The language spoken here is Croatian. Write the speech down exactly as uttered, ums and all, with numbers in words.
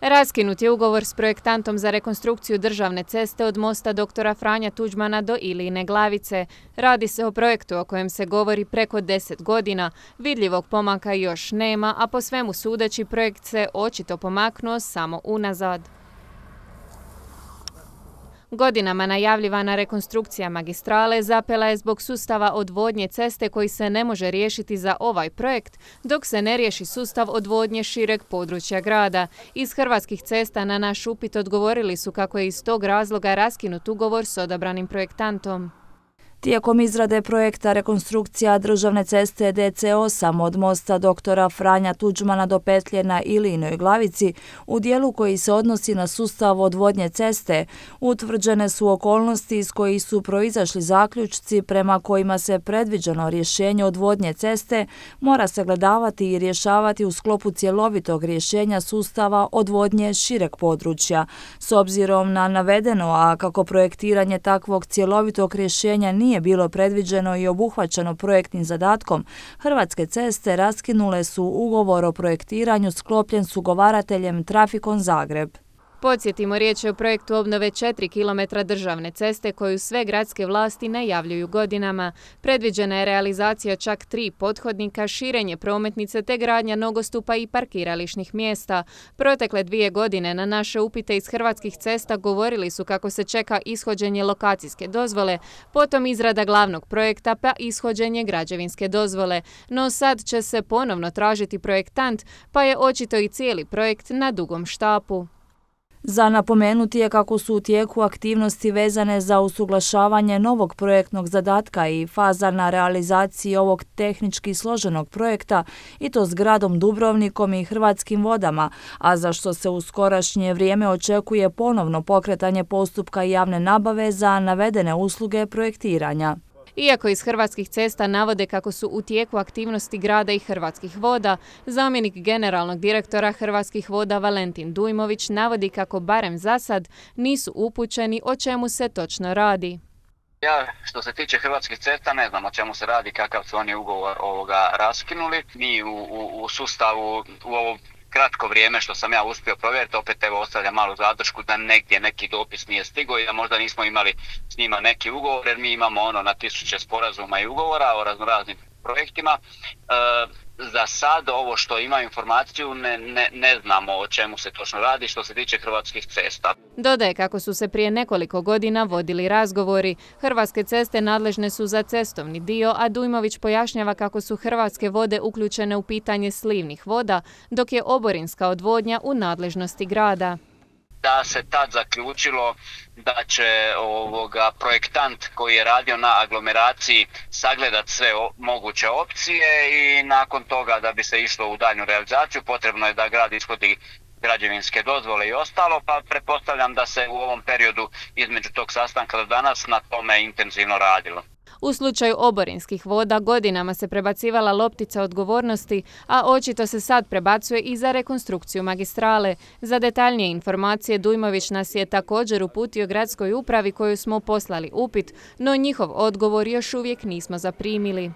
Raskinut je ugovor s projektantom za rekonstrukciju državne ceste od mosta doktora Franja Tuđmana do Ilijine Glavice. Radi se o projektu o kojem se govori preko deset godina. Vidljivog pomaka još nema, a po svemu sudeći projekt se očito pomaknuo samo unazad. Godinama najavljivana rekonstrukcija magistrale zapela je zbog sustava odvodnje ceste koji se ne može riješiti za ovaj projekt, dok se ne riješi sustav odvodnje šireg područja grada. Iz Hrvatskih cesta na naš upit odgovorili su kako je iz tog razloga raskinut ugovor s odabranim projektantom. Tijekom izrade projekta rekonstrukcija državne ceste D C osam od mosta doktora Franja Tuđmana do petlje na Ilijinoj Glavici, u dijelu koji se odnosi na sustav odvodnje ceste, utvrđene su okolnosti iz kojih su proizašli zaključci prema kojima se predviđeno rješenje odvodnje ceste mora sagledavati i rješavati u sklopu cjelovitog rješenja sustava odvodnje šireg područja. S obzirom na navedeno, a kako projektiranje takvog cjelovitog rješenja nije nije bilo predviđeno i obuhvaćeno projektnim zadatkom, Hrvatske ceste raskinule su ugovor o projektiranju sklopljen s ugovarateljem Trafikon Zagreb. Podsjetimo, riječ je o projektu obnove četiri kilometra državne ceste koju sve gradske vlasti najavljuju godinama. Predviđena je realizacija čak tri pothodnika, širenje prometnice te gradnja nogostupa i parkirališnih mjesta. Protekle dvije godine na naše upite iz Hrvatskih cesta govorili su kako se čeka ishođenje lokacijske dozvole, potom izrada glavnog projekta pa ishođenje građevinske dozvole. No sad će se ponovno tražiti projektant, pa je očito i cijeli projekt na dugom štapu. Za napomenuti je kako su u tijeku aktivnosti vezane za usuglašavanje novog projektnog zadatka i faza na realizaciji ovog tehnički složenog projekta, i to s gradom Dubrovnikom i Hrvatskim vodama, a za što se u skorašnje vrijeme očekuje ponovno pokretanje postupka javne nabave za navedene usluge projektiranja. Iako iz Hrvatskih cesta navode kako su u tijeku aktivnosti grada i Hrvatskih voda, zamjenik generalnog direktora Hrvatskih voda Valentin Dujmović navodi kako barem za sad nisu upućeni o čemu se točno radi. Ja, što se tiče Hrvatskih cesta, ne znam o čemu se radi, kakav su oni ugovor ovoga raskinuli. Mi u, u, u sustavu u ovo kratko vrijeme što sam ja uspio provjeriti, opet evo ostavlja malu zadršku da negdje neki dopis nije stigao i da možda nismo imali s njima neki ugovor, jer mi imamo ono na tisuće sporazuma i ugovora o raznoraznim projektima. E, za sad ovo što ima informaciju ne, ne, ne znamo o čemu se točno radi što se tiče Hrvatskih cesta. Dodaje kako su se prije nekoliko godina vodili razgovori. Hrvatske ceste nadležne su za cestovni dio, a Dujmović pojašnjava kako su Hrvatske vode uključene u pitanje slivnih voda, dok je oborinska odvodnja u nadležnosti grada. Da se tad zaključilo da će ovoga projektant koji je radio na aglomeraciji sagledat sve moguće opcije i nakon toga da bi se išlo u daljnju realizaciju potrebno je da grad ishodi građevinske dozvole i ostalo, pa pretpostavljam da se u ovom periodu između tog sastanka do danas na tome intenzivno radilo. U slučaju oborinskih voda godinama se prebacivala loptica odgovornosti, a očito se sad prebacuje i za rekonstrukciju magistrale. Za detaljnije informacije Dujmović nas je također uputio gradskoj upravi koju smo poslali upit, no njihov odgovor još uvijek nismo zaprimili.